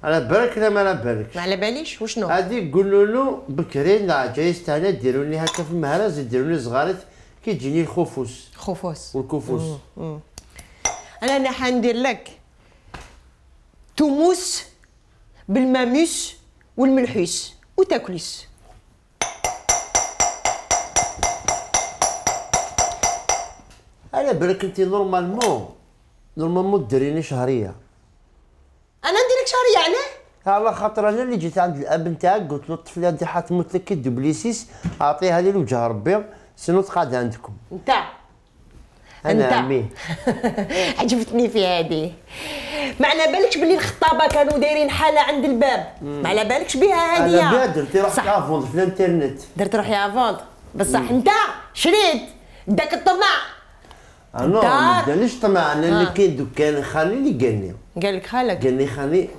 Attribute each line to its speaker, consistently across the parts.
Speaker 1: على بالك لا ما على بالكش.
Speaker 2: ما على باليش وشنو؟
Speaker 1: غادي قولوا له بكري لا جايز تاعنا ديروا لي هكا في المهرز، ديروا لي صغارت كي تجيني الخفوس والكفوس.
Speaker 2: انا حندير لك توموس بالماموس والملحوس وتاكليس.
Speaker 1: على بالك انت نورمالمون ديريني شهريه.
Speaker 2: انا ندير لك شهريه علاه؟
Speaker 1: على خاطر انا اللي جيت عند الاب نتاعك قلت له الطفله هادي حتموت لك كي دوبليسيس، اعطيها لي لوجه ربي سينو تقعد عندكم. انا عمي
Speaker 2: عجبتني في هذه. ما على بالكش بلي الخطابه كانوا دايرين حاله عند الباب، ما على بالكش بها هذه.
Speaker 1: انا بها درتي روحي افوند في الانترنت.
Speaker 2: درت روحي افوند بصح انت شريت داك الطمع.
Speaker 1: انا ما دانيش طمع، انا اللي كاين دكان خالي اللي
Speaker 2: قال لك خالك؟
Speaker 1: قال لي خالي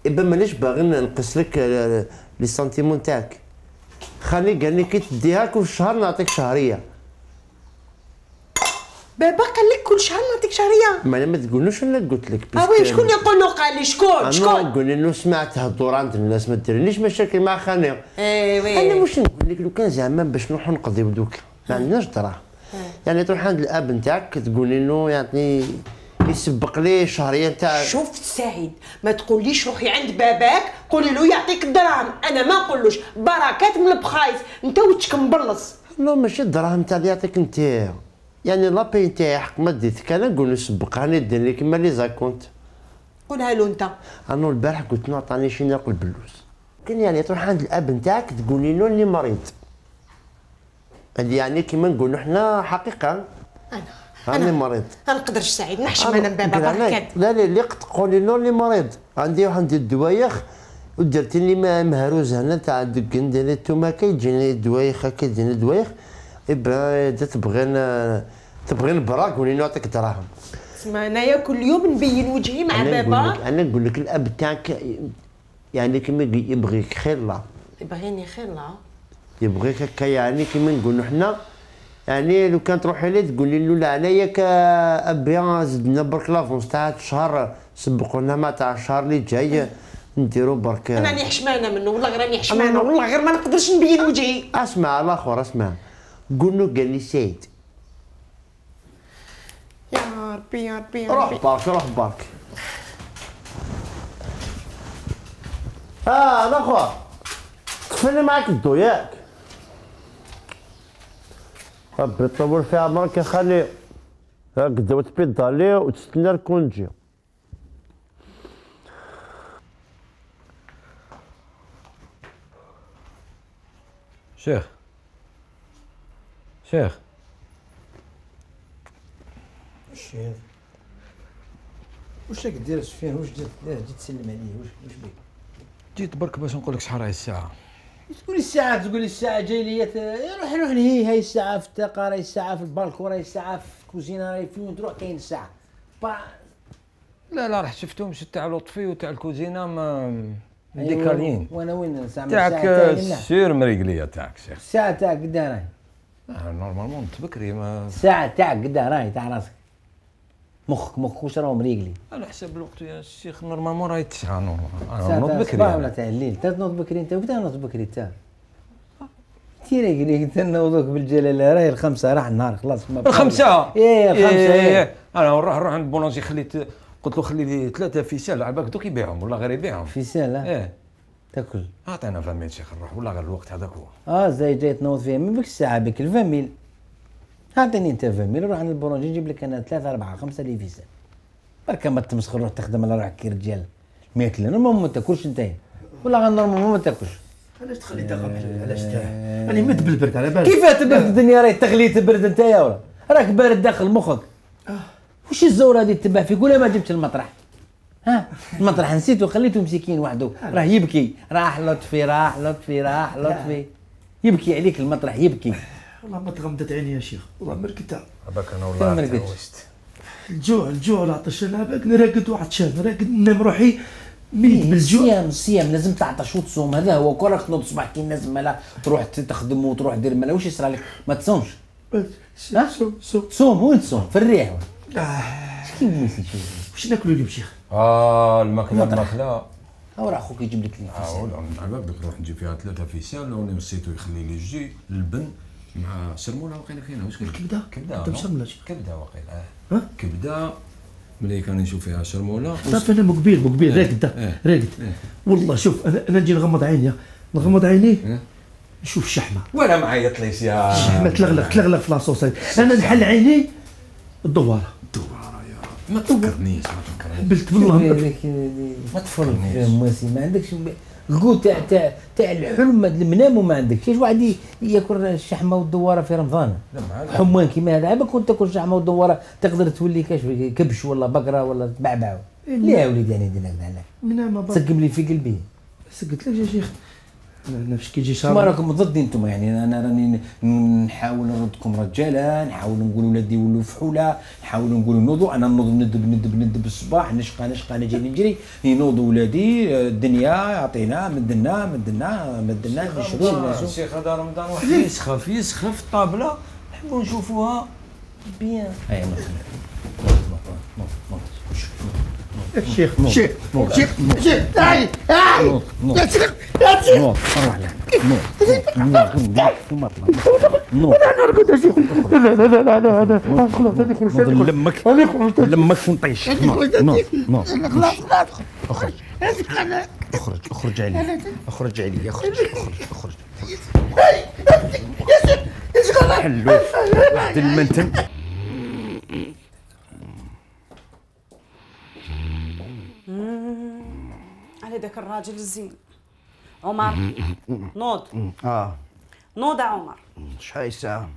Speaker 1: إبا مانيش باغي نقص لك لي سنتيمون تاعك. خالي قال لي كي تديها كل شهر نعطيك شهريه.
Speaker 2: بابا قال لك كل شهر نعطيك شهريه؟
Speaker 1: ما انا ما تقولوش انا قلت لك.
Speaker 2: وي شكون يقول له قال لي شكون؟
Speaker 1: انا نقول له سمعت هضور عند الناس ما ديرليش مشاكل مع خالي.
Speaker 2: وي
Speaker 1: انا واش نقول لك لو كان زعما باش نروحو نقضيو دوك ما عندناش دراهم. يعني تروح عند الاب نتاعك تقولي له يعني يسبق لي شهريه تاع.
Speaker 2: شوف سعيد ما تقوليش روحي عند باباك قولي له يعطيك الدراهم، انا ما نقولوش بركات من البخايس انت وجهك مبلص.
Speaker 1: لا ماشي الدراهم تاع اللي يعطيك انت، يعني لابي نتاعي حق ما ديتك انا نقول له سبقها لي دير لي كيما لي زاكونت.
Speaker 2: قولها له انت.
Speaker 1: انا البارح قلت له عطاني شي ناكل بلوز. كان يعني تروح عند الاب نتاعك تقولي له اللي مريض. هذه يعني كيما نقولوا حنا حقيقه انا مريض.
Speaker 2: ما نقدرش سعيد نحشم انا بابا بركات.
Speaker 1: لا اللي تقولي له اللي مريض عندي واحد الدوايخ ودرت لي مهروز هنا تاع ندير التوماكه يجيني دوايخ هكا يجيني دوايخ. إبا تبغي نبرا قولي له نعطيك دراهم.
Speaker 2: اسمع انايا كل يوم نبين وجهي مع بابا.
Speaker 1: انا نقول لك الاب تاعك يعني كيما يبغيك خير الله.
Speaker 2: يبغيني خير الله.
Speaker 1: يبغيك هكا يعني كيما نقولوا حنا يعني لو كان تروحي ليه تقولي له لا عليا ابي زدنا برك لافونس تاع الشهر سبقونا ما تاع الشهر اللي جاي نديرو برك.
Speaker 2: انا راني حشمانه منه والله راني حشمانه والله غير ما نقدرش نبين وجهي.
Speaker 1: اسمع الاخر اسمع قول له قال لي سيد
Speaker 2: يا ربي يا ربي
Speaker 1: روح برك. الاخر كفانا معاك الضو ياك. ربي يطول في عمرك يا خالي. هكذا وتبيض عليه وتستنى لكون تجي.
Speaker 3: شيخ
Speaker 4: واش راك دير سفيان؟ واش جيت تسلم عليه؟ واش بيك؟
Speaker 3: جيت برك باش نقول لك شحال راهي الساعه.
Speaker 4: تقول لي الساعه جاي لي روح نهي. هاي الساعه في الطاقه، راهي الساعه في البالكون، راهي الساعه في الكوزينه، راهي في وين تروح كاين الساعه.
Speaker 3: لا رحت شفتهم تاع لطفي وتاع الكوزينه ما ديكالين.
Speaker 4: وانا وين الساعه
Speaker 3: تاعك سير مريقليه تاعك شيخ.
Speaker 4: الساعه تاعك قدا راهي؟
Speaker 3: نورمالمون بكري ما
Speaker 4: الساعه تاعك قدا راهي تاع راسك؟ مخك واش راهو مريقلي؟
Speaker 3: على حسب الوقت يا الشيخ نورمالمون راهي 9 نورمال.
Speaker 4: انا نوض بكري ولا تاع الليل؟ تنوض بكري انت وقتها نوض بكري انت؟ تيري قلت نوضوك بالجلاله راهي الخمسه راح النهار خلاص.
Speaker 3: الخمسه؟
Speaker 4: الخمسه.
Speaker 3: انا نروح عند بولونجي قلت له خلي لي 3 فيسال على بالك دوك يبيعهم ولا غير يبيعهم.
Speaker 4: فيسال؟ تاكل.
Speaker 3: اعطينا 20 شيخ نروح ولا غير الوقت هذاك هو.
Speaker 4: زي جاي تنوض فيها من بك الساعه بك 20 اعطيني انت 20 نروح عند البولونجي نجيب لك انا 3 4 5 لي فيسال. برك ما تمسخر روح تخدم على روحك كي رجال. ماكله نورمالمون ما تاكلش انت ولا غير نورمالمون ما تاكلش.
Speaker 5: علاش تخلي داخل؟ علاش راني مد بالبرد على بالك.
Speaker 4: كيفاه تبرد الدنيا؟ راهي تغلي تبرد انت يا ولا راك بارد داخل مخك. وش الزوره هذه تباع فيك ولا ما جبتش المطرح؟ المطرح نسيته خليته مسكين وحده راه يبكي. راح لطفي يبكي عليك المطرح يبكي.
Speaker 5: والله ما تغمضت عيني يا شيخ والله مركتها.
Speaker 3: هذاك انا والله تهوشت.
Speaker 5: الجوع العطش انا باك راقد وعطشان راقد ننام روحي ميت بالجوع.
Speaker 4: الصيام لازم تعطش وتصوم. هذا هو كون راك تنوض الصباح كي الناس مالا تروح تخدم وتروح دير مالا واش يصرى لك؟ ما تصومش.
Speaker 5: صوم
Speaker 4: صوم وين تصوم؟ في الريح. كيف نسيت
Speaker 5: واش ناكلوا اليوم شيخ؟
Speaker 3: الماكله
Speaker 4: هاو راه خوك يجيب لك لي
Speaker 3: ولا على بالك نروح نجيب فيها 3 فيسان وني نسيتو يخلي لي الجي اللبن مع سرموله واقيلا كاينه واش
Speaker 5: كبده
Speaker 3: كبده
Speaker 5: مسرمله
Speaker 3: كبده واقيلا كبده ملي كان نشوف فيها سرموله
Speaker 5: صافي انا مقبيل راقد والله شوف انا نجي نغمض عيني نشوف الشحمه
Speaker 3: وانا ما عيطليش يا
Speaker 5: الشحمه تلغلق في لاصوص انا نحل عيني الدواره
Speaker 3: يا ما تفكرنيش
Speaker 5: قبلت بالله
Speaker 4: ما تفرج مواسي ما عندكش القوت تاع الحلم المنام وما عندكش كاش واحد ياكل الشحمه والدواره في رمضان حمان كيما هذا عباك كنت تاكل الشحمه والدواره تقدر تولي كاش كبش ولا بقره ولا بعبع لا يا وليدي يعني دير هكذا تسقم لي في قلبي
Speaker 5: سقت لك يا شيخ انا فاش كيجي
Speaker 4: شهر ما راكم ضدي انتم يعني انا راني نحاول نردكم رجاله نحاول نقول ولادي يولوا فحوله نحاول نقول نوضوا انا نوض ندب الصباح نشقى انا جاي نجري ينوضوا ولادي الدنيا يعطينا مدنا نشرو
Speaker 3: الشيخ هذا رمضان واحد يسخف في الطابله نحبوا نشوفوها بيان
Speaker 5: الشيخ تعال
Speaker 4: لا تسرق روح لا لمك ونطيش اخرج علي حلو واحد المنتن
Speaker 2: على ذاك الراجل الزين عمر نوض نوض يا عمر
Speaker 6: شحال الساعة؟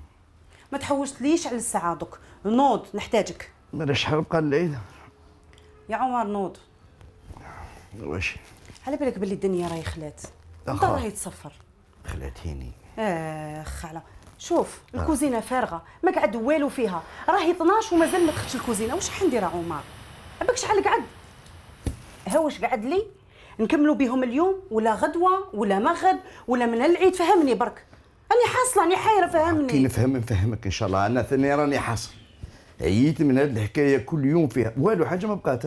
Speaker 2: ما تحوشتليش على الساعة دوك نوض نحتاجك
Speaker 6: مالا شحال بقى الليل؟
Speaker 2: يا عمر نوض
Speaker 6: واش؟
Speaker 2: على بالك بلي الدنيا راهي خلات انت راهي تصفر
Speaker 6: خلاتيني
Speaker 2: خاله شوف الكوزينه فارغه ما قعد والو فيها راهي 12 ومازال ما دخلتش الكوزينه واش حندير يا عمر عباك شحال قعد ها واش قعد لي نكملوا بهم اليوم ولا غدوه ولا ما غد ولا من العيد فهمني برك راني حاصله راني حايره فهمني
Speaker 6: كي نفهمك ان شاء الله انا ثاني راني حاصل عييت من هذه الحكايه كل يوم فيها والو حاجه ما بقات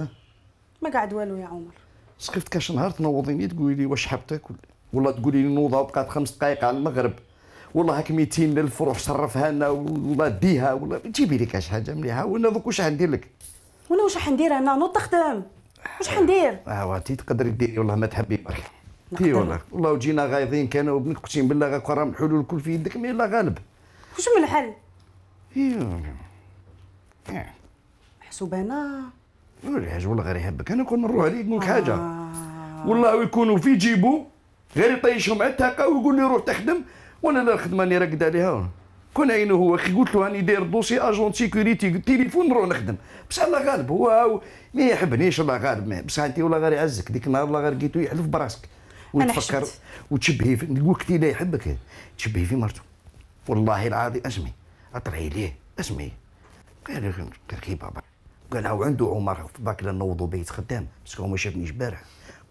Speaker 2: ما قعد والو يا عمر
Speaker 6: سخفت كاش نهار تنوضيني تقولي لي واش حاب تاكل ولا تقولي لي نوضه وبقات 5 دقائق على المغرب والله هاك 200 الف روح صرفها لنا ولا ديها ولا جيبي لي كاش حاجه مليحه وانا دوك واش غندير لك
Speaker 2: وانا واش حندير انا نوض تخدم واش حندير
Speaker 6: وانتي تقدري ديري والله ما تحبي برك تي والله وجينا غايظين كانوا وبنك اقسم بالله غا راه الحلول الكل في يدك مي لا غالب
Speaker 2: واش من الحل محسوب انا
Speaker 6: ولا حاجه والله غير يحبك انا كون نروح عليك نقول حاجه والله يكونوا في جيبو غير يطيشهم على التاقه ويقول لي روح تخدم وانا لا الخدمه اللي راقد عليها كون عينه هو كي قلت له راني داير دوسي اجون سيكوريتي تليفون نروح نخدم بصح الله غالب هو ما يحبنيش الله غالب بصح انت والله غير يعزك ديك النهار الله غير لقيتو يحلف براسك وتفكر وتشبهي في نقول لك لا يحبك تشبهي في مرته والله العظيم اسمي اطلعي ليه اسمي قال كي بابا قال هو عنده عمر باك نوضوا بيت خدام باسكو هو ما شافنيش البارح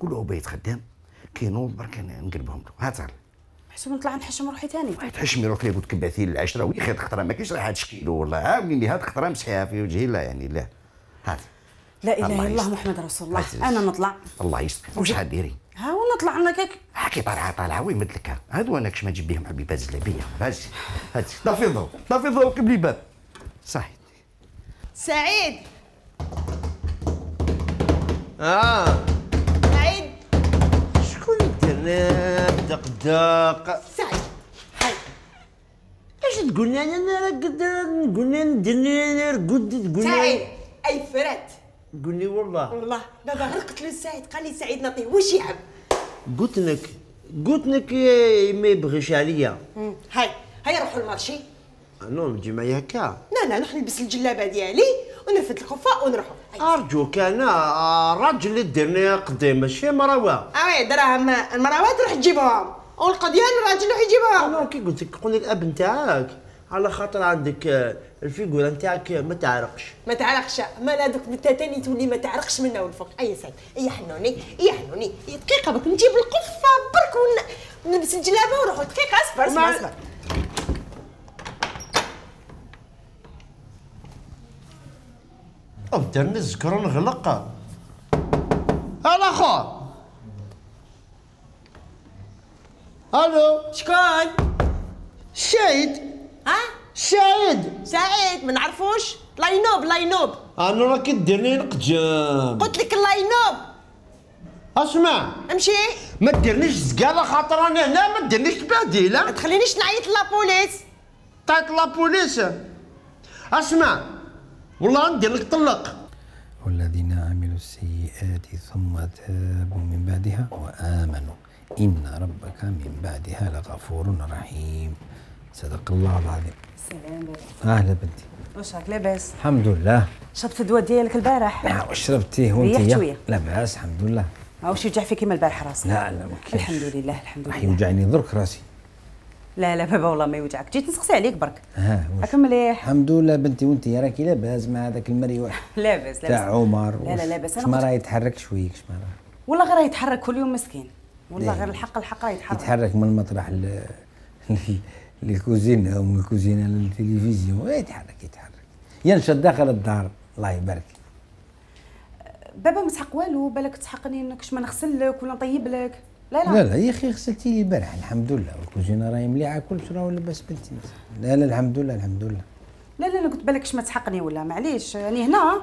Speaker 6: قول له بيت خدام كي نوض برك نقلبهم له هات
Speaker 2: حسب نطلع نحشم روحي ثاني
Speaker 6: تحشمي روحك قلت كباثي العشره وي خير خطره ما كاينش راح تشكيلو والله عاونيني هاد خطره مسحيها في وجهي لا يعني لا هات
Speaker 2: لا اله الا الله محمد رسول الله انا نطلع
Speaker 6: الله يستر واش حديري
Speaker 2: ها ونطلع انا كاك
Speaker 6: كي طالعه وين مدلك هادو انا كش ما تجيب بهم حبيبات زلابيه هات طافي الضوء قبل الباب صحيح
Speaker 2: سعيد سعيد
Speaker 1: شكون درنا دق
Speaker 2: سعيد هاي
Speaker 1: اش تقول لي انا راقد نقول لي نرقد تقول
Speaker 2: سعيد اي فرات
Speaker 1: قول لي والله
Speaker 2: دابا غير قلت له سعيد قال لي سعيد نعطيه واش يحب
Speaker 1: قلت لك ما يبغيش عليا
Speaker 2: هيا روحوا المارشي
Speaker 1: نو نجي معايا هكا
Speaker 2: لا نروح نلبس الجلابه ديالي ونرفد الخفاء ونروحوا
Speaker 1: ارجوك انا راجل اللي ديرني قدام ماشي مراوه
Speaker 2: وي دراهم المراوات تروح تجيبهم والقضيان الراجل يروح يجيبها
Speaker 1: انا كي قلت لك قولي الاب نتاعك على خاطر عندك الفيغوره نتاعك ما تعرقش
Speaker 2: ما هذوك انت تاني تولي ما تعرقش منا والفوق اي سعد اي حنوني دقيقه بك نجيب القفه برك ونلبس الجلابه ونروحوا دقيقه اصبر
Speaker 1: ابدا نذكر نغلق. الاخر الو
Speaker 7: شكون؟
Speaker 1: الشاهد.
Speaker 7: ها؟
Speaker 1: سعيد
Speaker 7: ما نعرفوش. لاينوب
Speaker 1: انا راه كديرني نقجم.
Speaker 7: قلت لك لاينوب.
Speaker 1: اسمع
Speaker 7: امشي.
Speaker 1: ما ديرنيش زقاله خاطر انا هنا، ما ديرنيش تبهديله.
Speaker 7: ما تخلينيش نعيط لابوليس.
Speaker 1: طيط لابوليس. اسمع والله ندير لك طلق.
Speaker 4: والذين عملوا السيئات ثم تابوا من بعدها وآمنوا إن ربك من بعدها لغفور رحيم. صدق الله العظيم.
Speaker 2: سلام بابا.
Speaker 4: أهلا بنتي.
Speaker 2: واش راك لاباس؟
Speaker 4: الحمد لله.
Speaker 2: شربت الدواء ديالك البارح؟
Speaker 4: نعم شربتيه
Speaker 2: ريحت
Speaker 4: وانت؟
Speaker 2: شوية.
Speaker 4: لاباس الحمد لله.
Speaker 2: ماهوش يوجع فيك كيما البارح راسك؟
Speaker 4: لا ما كاينش.
Speaker 2: الحمد لله الحمد
Speaker 4: راح
Speaker 2: لله.
Speaker 4: يوجعني درك راسي.
Speaker 2: لا بابا والله ما يوجعك، جيت نسقسي عليك برك.
Speaker 4: ها
Speaker 2: راك مليح؟
Speaker 4: الحمد لله بنتي، وانت راكي لاباس مع هذاك المريوح
Speaker 2: لاباس
Speaker 4: تاع عمر.
Speaker 2: لا لاباس.
Speaker 4: انا ما راه يتحرك شويه ما راه
Speaker 2: والله غير يتحرك كل يوم مسكين، والله
Speaker 4: ليه؟
Speaker 2: غير الحق راه
Speaker 4: يتحرك من المطرح للكوزينه او من الكوزينه للتلفزيون، يتحرك ينشط داخل الدار. الله يبارك.
Speaker 2: بابا ما تحق والو، بالك تحقني انك ما نغسل لك ولا نطيب لك. لا
Speaker 4: يا اخي غسلتي لي البارح الحمد لله، والكوزينه راهي مليحه كلش راه لاباس بنتي. لا الحمد لله الحمد لله.
Speaker 2: لا انا قلت بالك ما تحقني ولا معليش يعني هنا.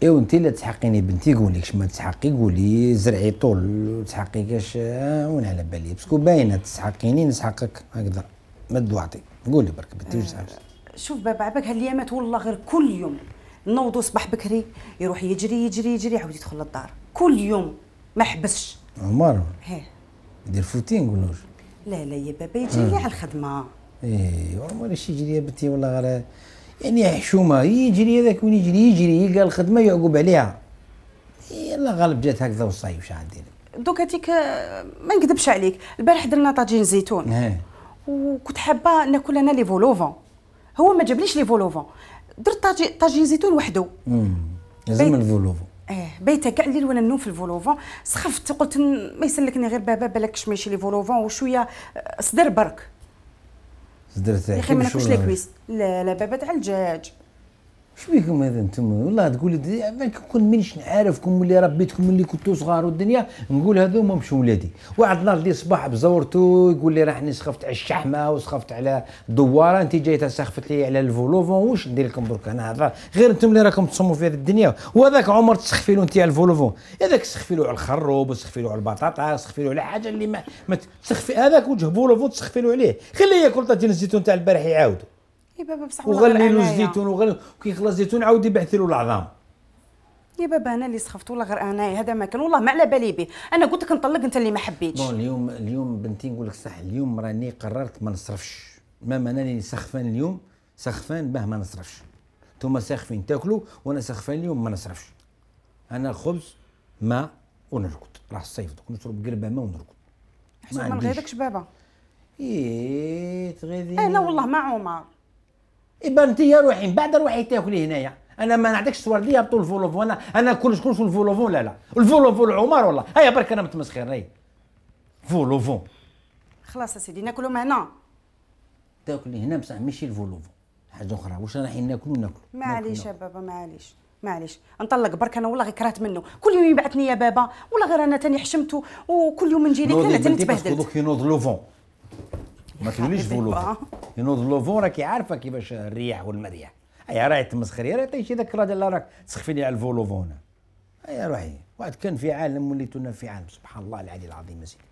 Speaker 4: ايوا انت لا تحقيني بنتي، قولي كش ما تحقي، قولي زرعي طول تحقي كاش وين على بالي، باسكو باينه تسحقيني نسحقك هكذا ما دوعتي. قولي برك بنتي واش عاوز.
Speaker 2: شوف بابا عباك هالايامات والله غير كل يوم نوضو صباح بكري يروح يجري عاود يدخل للدار كل يوم ما حبسش.
Speaker 4: عمر
Speaker 2: هيه
Speaker 4: يدير فوتين قولوش.
Speaker 2: لا يا بابا يجي لي على الخدمه.
Speaker 4: ايه عمر اش يجري يا بنتي والله غير يعني حشومه يجري هذاك وين يجري يلقى الخدمه يعقب عليها. يلا غالب جات هكذا والصيف شحال ندير.
Speaker 2: دوك هذيك ما نكذبش عليك، البارح درنا طاجين زيتون وكنت حابه ناكل انا لي فولوفون، هو ما جابليش لي فولوفون، درت طاجين زيتون وحده.
Speaker 4: لازم الفولوفون.
Speaker 2: بيت كاع الليل وانا نوم في الفولوفون، سخفت قلت ما يسلكني غير بابا بالكش ماشي لي فولوفون وشويه صدر برك.
Speaker 4: صدر تاعك
Speaker 2: يا اخي ما ناكلش لي كويس. لا بابا تاع الدجاج.
Speaker 4: اش بيكم هذا انتم والله تقولي كون مانيش نعرفكم اللي ربيتكم اللي كنتو صغار والدنيا نقول هذوما مش ولادي. واحد النهار اللي صباح بزورتو يقول لي راني سخفت على الشحمه وسخفت على الدواره، انت جايته سخفت لي على الفولوفون، واش ندير لكم درك انا هذا غير انتم اللي راكم تصوموا في هذه الدنيا. وهذاك عمر تسخفي له انت على الفولوفون، هذاك تسخفي له على الخروب وتسخفي له على البطاطا تسخفي له على حاجه اللي ما تسخفي هذاك وجه فولوفون تسخفي له عليه. خليه ياكل طاجين الزيتون تاع البارح يعاودوا.
Speaker 2: يا بابا بصح
Speaker 4: وغلي له الزيتون كي يخلص الزيتون عاود يبعث له العظام.
Speaker 2: يا بابا انا اللي سخفت والله غير انا هذا ما كان والله ما على بالي به، انا قلت لك نطلق انت اللي ما حبيتش.
Speaker 4: اليوم بنتي نقول لك صح، اليوم راني قررت ما نصرفش، ماما انا اللي سخفان اليوم سخفان باه ما نصرفش. نتوما ساخفين تاكلوا وانا سخفان اليوم ما نصرفش. انا الخبز ماء ونرقد، راه الصيف دوك نشرب قربه ماء ونرقد.
Speaker 2: ما نغيظكش بابا.
Speaker 4: تغيظيني.
Speaker 2: انا والله ما عمر.
Speaker 4: إبا انت يا روحي من بعد روحي تاكلي هنايا، انا ما نعطيكش الورديه بطول الفولوفون، انا كل شكون في الفولوفون. لا الفولوفون عمر والله هيا برك انا متمسخر. هاي فولوفون
Speaker 2: خلاص يا سيدي ناكلهم هنا.
Speaker 4: تاكلي هنا بصح ماشي الفولوفون، حاجه اخرى. واش رايحين ناكلوا
Speaker 2: معليش يا بابا معليش نطلق برك انا والله غير كرهت منه، كل يوم يبعثني يا بابا والله غير انا تاني حشمته وكل يوم نجي لك انا تاني تبهدلت.
Speaker 4: دوك ينوض لوفون ما تقوليش فولوفون، ينوض لوفون راكي عارفه كيفاش الرياح والمريح. هيا راهي تمسخري راه تيجي ذاك الراجل اللي راك تسخفي لي على الفولوفون. هيا روحي واحد كان في عالم وليتونا في عالم سبحان الله العلي العظيم. سيدي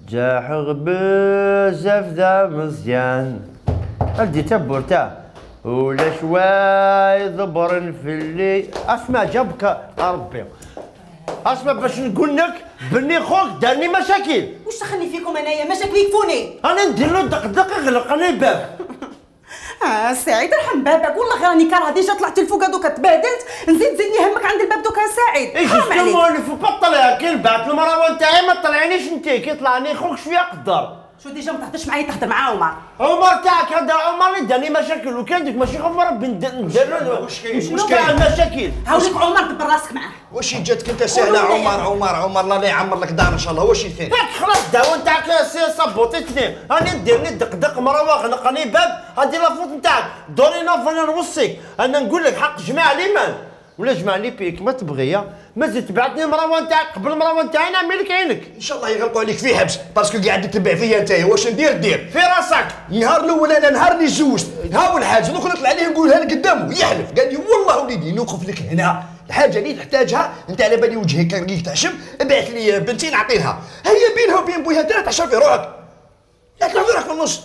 Speaker 1: جاح بزاف دا مزيان ادي تبورتا ولا شوي ضبر في اللي اسمع جابك ربي. اسمع باش نقول لك بني خوك دارني مشاكل.
Speaker 2: واش دخلني فيكم انايا مشاكل يكفوني؟
Speaker 1: انا ندير له دق يغلق انا الباب.
Speaker 2: سعيد ارحم بابك والله غير راني كارهه ديجا طلعت الفوق دوكا تبهدلت، زيدني همك عند الباب دوكا سعيد.
Speaker 1: ايش مولف بطل يا كي بعت المروه نتاعي ما طلعنيش انت كي طلعني خوك شويه قدر.
Speaker 2: شو ديجا ما تهضرش معايا تهضر مع عمر.
Speaker 1: عمر تاعك هذا عمر اللي دارني مشاكل وكان ديك ماشي خف ربي ندير
Speaker 6: واش كاين
Speaker 1: شنو كاع المشاكل؟
Speaker 2: هاوليك عمر دبر راسك معاه.
Speaker 6: واش جاتك انت سهله عمر الله لا يعمر لك دار ان شاء الله. واش ثاني
Speaker 1: ياك خلاص الدعوه نتاعك صبوطيتني راني ديرني دق مروه غنقني باب هذه لافوت نتاعك دوري نافوني نوصيك انا نقول لك حق جماع ليمان ولا جمع لي بيك ما تبغي مازال تبعتني مروه نتاعك قبل مروه نتاعي نعمل لك عينك
Speaker 6: ان شاء الله يغلقوا عليك في حبس باسكو قاعد تتبع فيا انت. واش ندير دير
Speaker 1: في راسك.
Speaker 6: النهار الاول انا نهار اللي تزوجت ها هو الحاجه دوك نطلع عليه نقولها لك قدامه يحلف قال لي والله وليدي نوقف لك هنا الحاجه اللي تحتاجها انت على بالي وجهك كان تعشم ابعث لي بنتي نعطيها هي بينها وبين بويها انت تعشر في روحك لا تلعب روحك في النص.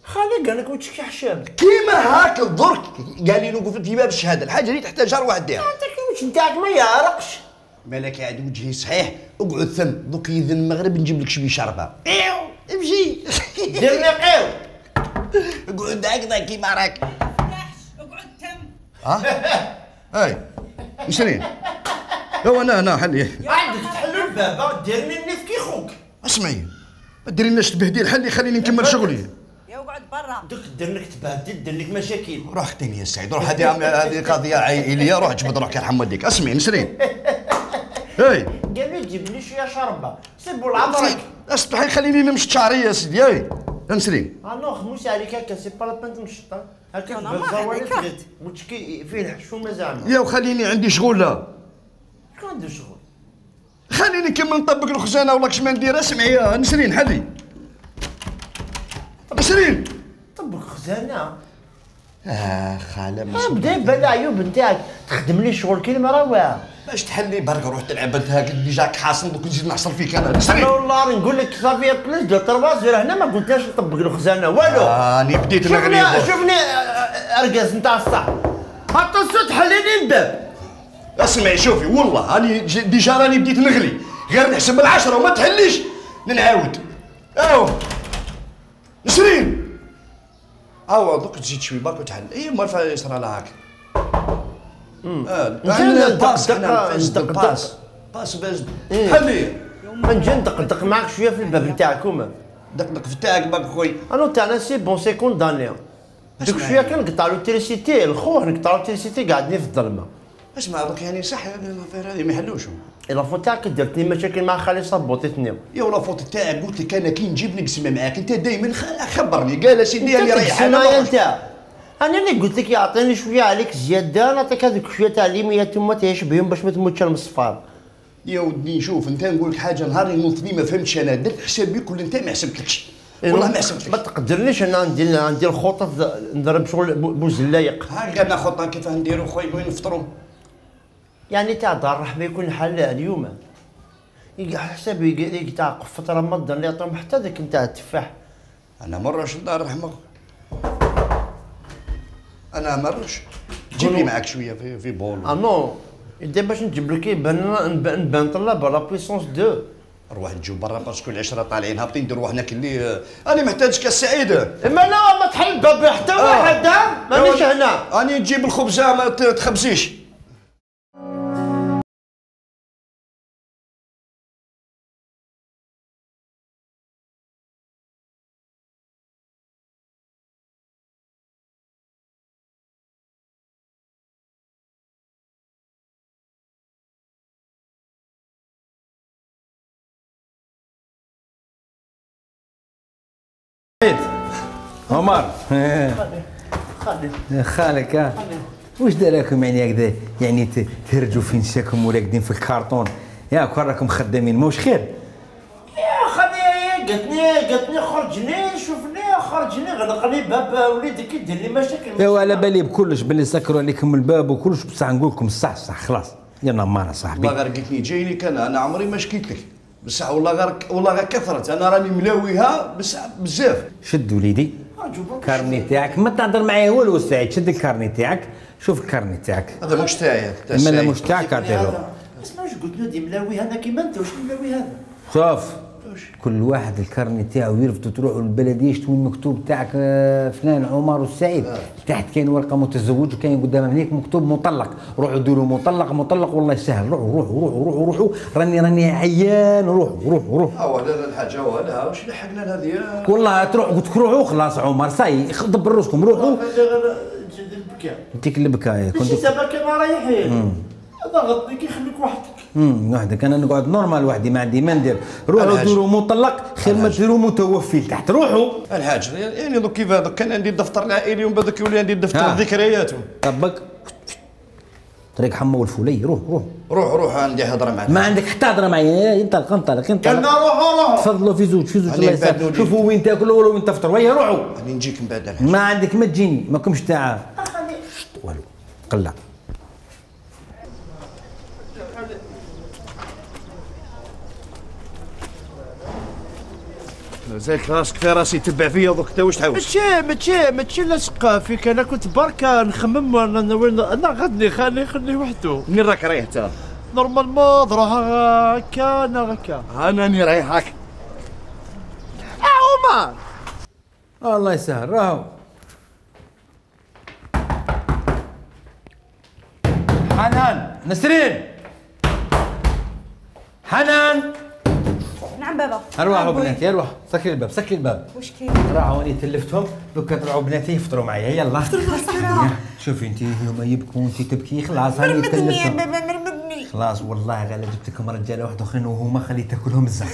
Speaker 1: خلي قال لك وتشكي حشام
Speaker 6: كيما هاك الضرك قال لي نوقف في باب الشهاده الحاجه اللي تحتاجها روح ديرها.
Speaker 1: انت كي وجه نتاعك ما يعرقش
Speaker 6: مالك قاعد وجهي صحيح اقعد ثم دوك يذن المغرب نجيب لك شويه شربه ايو امشي
Speaker 1: دير لي قيو
Speaker 6: اقعد هكذا كيما راك
Speaker 2: اقعد تم.
Speaker 6: هاي نسرين هو انا حلي
Speaker 1: عندك تحلوا الباب ديرني النيف كي خوك.
Speaker 6: اسمعي ما ديريناش تبهديل حلي خليني نكمل شغلي.
Speaker 2: يا اقعد برا.
Speaker 1: دوك دير لك تبهدل دير لك مشاكل.
Speaker 6: روح اختني يا سعيد روح هذه قضيه عائليه روح جبد روحك يرحم والديك. اسمعي نسرين هاي
Speaker 1: قال لي جيب لي شويه شربه سيبوا لعمرك.
Speaker 6: اصبحي خليني نمشط شعري يا سيدي هاي نسرين.
Speaker 1: نو خموس عليك هكا سي با لا بان تمشط هكا بالزوالي تغد متشكي فيه الحشومه زعما.
Speaker 6: يا وخليني عندي شغل لا
Speaker 1: شكون عنده شغل؟
Speaker 6: خليني نكمل نطبق الخزانه ولا كش ما ندير. اسمعي يا نسرين حلي نسرين
Speaker 1: طبق خزانه.
Speaker 6: خاله
Speaker 1: بدا يبان العيوب نتاعك تخدم لي شغل كيما رواه
Speaker 6: باش تحلي برك روح تلعب انت هاك اللي جاك حاصل دوك نزيد نحصل فيك انا نسرين.
Speaker 1: انا والله نقول لك صافي بلاش دو تروازير هنا ما قلتلاش نطبق الخزانه والو.
Speaker 6: راني بديت نغلي
Speaker 1: شوفني ارقص نتاع الصح حتى الصوت حليني الباب.
Speaker 6: اسمعي شوفي والله راني ديجا راني بديت نغلي غير نحسب ال10 وما تحليش نعاود. نسرين دوك تزيد شوي برك وتحل. اي ما يصرى لها هاك. باس باش حلي
Speaker 1: نجي ندقدق معاك شويه في الباب نتاعكم.
Speaker 6: دقدق في تاعك باك خويا.
Speaker 1: انا تاعنا سي بون سي كونداني دوك شويه كنقطع لوتريسيتي الخوه نقطع لوتريسيتي قاعدين في الظلمه.
Speaker 6: اسمع دوك يعني صح هذه ما يحلوش.
Speaker 1: لافوت تاعك درتني مشاكل مع خالي صبوطتني.
Speaker 6: يا لافوت تاعك قلت لك انا كي نجيب نقسم معاك انت دايما خبرني قال سيدي راني رايح
Speaker 1: انا اللي قلت لك يعطيني شويه عليك زياده نعطيك هذوك شويه تاع ليميات ما تعيش بهم باش ما تموتش من الصفار.
Speaker 6: يا ودي شوف انت نقول لك حاجه نهار نوضني ما فهمتش انا درت حسابي كل انت ما حسبتلكش والله ما حسبتلكش.
Speaker 1: ما تقدرنيش انا ندير خطط نضرب شغل بوزلايق.
Speaker 6: هاكا انا خطه كيفاه نديرو خويا وين نفطروا
Speaker 1: يعني تاع دار الرحمه يكون حل اليوم حسابي تاع قفه رمضان اللي يعطيهم حتى ذاك نتاع التفاح.
Speaker 6: انا مرش دار الرحمه انا مرش جيب لي معاك شويه في بول.
Speaker 1: نو اذا باش نجيب لك نبان طلاب لا بويسونس 2
Speaker 6: نروح نجيو برا باسكو العشره طالعين هابطين نديرو روحنا كلي انا محتاج كاس سعيد.
Speaker 1: اما لا ما تحل الباب حتى واحد مانيش هنا.
Speaker 6: راني نجيب الخبزه ما تخبزيش.
Speaker 4: عمر خالك واش داراكم يعني هكذا يعني تهرجوا في نساكم وراقدين في الكارطون ياك راكم خدامين موش خير.
Speaker 1: يا خدي قالتني خرجني شوفني خرجني غلقني باب وليدك يدير لي مشاكل.
Speaker 4: ايوا على بالي بكلش باللي سكروا عليكم الباب وكلش بصح نقول لكم الصح خلاص يا نمار صاحبي.
Speaker 6: والله غير قلتني جايني انا عمري ما شكيت لك بصح والله غير كثرت انا راني ملاويها بصح بزاف.
Speaker 4: شد وليدي الكارني تاعك ما تهضر معايا والو سعيد شد الكارني تاعك شوف الكارني تاعك.
Speaker 6: هذا مش تاعي
Speaker 4: لا مش تاعك عطيلو.
Speaker 1: اسمع واش قلت له دي ملاوي هذا كيما انت واش ملاوي هذا.
Speaker 4: شوف كل واحد الكارني تاعو يرفدوا تروحوا للبلديه يشتوا المكتوب تاعك فلان عمر والسعيد، تحت كاين ورقه متزوج وكاين قدام هناك مكتوب مطلق، روحوا ديروا مطلق مطلق والله يسهل. روحوا راني عيان. روحوا
Speaker 6: لا الحاجه ولا واش لحقنا لهذه
Speaker 4: والله تروح قلت لك روحوا خلاص عمر صاي دبر روسكم روحوا. انتيك البكايه
Speaker 5: كنت سبك انا رايحين ضغطني كيخليك
Speaker 4: وحدك. انا نقعد نورمال وحدي ما عندي ما ندير. روحوا ديروا مطلق خير ما ديروا متوفي تحت. روحوا
Speaker 6: الحاج يعني دوك كيف هذا كان عندي الدفتر العائلي ومن بعد يولي عندي الدفتر الذكريات.
Speaker 4: طبق طريق حمو الفولي.
Speaker 6: روح عندي هضره معك.
Speaker 4: ما عندك حتى هضره معايا. انطلق
Speaker 5: قلنا روحوا
Speaker 4: تفضلوا في زوج الله يسهل. شوفوا وين تاكلوا ولا وين تفطروا. ويا روحوا
Speaker 6: راني نجيك من بعد.
Speaker 4: ما عندك ما تجيني ماكمش تاع والو قلع.
Speaker 6: زيك راسك في راسي تبع فيا دوك انت واش تحوس؟
Speaker 5: ماشي لاصق فيك. انا كنت بركه نخمم انا غدني خليه وحده.
Speaker 6: منين راك رايح انت؟
Speaker 5: نورمالمون نروح هكا
Speaker 6: انا راني رايح هاك.
Speaker 5: عمر
Speaker 4: الله يسهل. راهو حنان نسرين حنان.
Speaker 2: نعم بابا.
Speaker 4: اروحوا بناتي اروح. سكري الباب.
Speaker 2: واش كاين؟
Speaker 4: راهو اني تلفتهم دوكا طلعوا بناتي يفطروا معايا. يلا شوفي انت هما يبكوا وانت تبكي خلاص هاني تلفتهم.
Speaker 7: مرمدني يا بابا مرمدني.
Speaker 4: خلاص والله غير جبت لكم رجاله واحد اخرين وهما خليت تاكلهم الزنقه.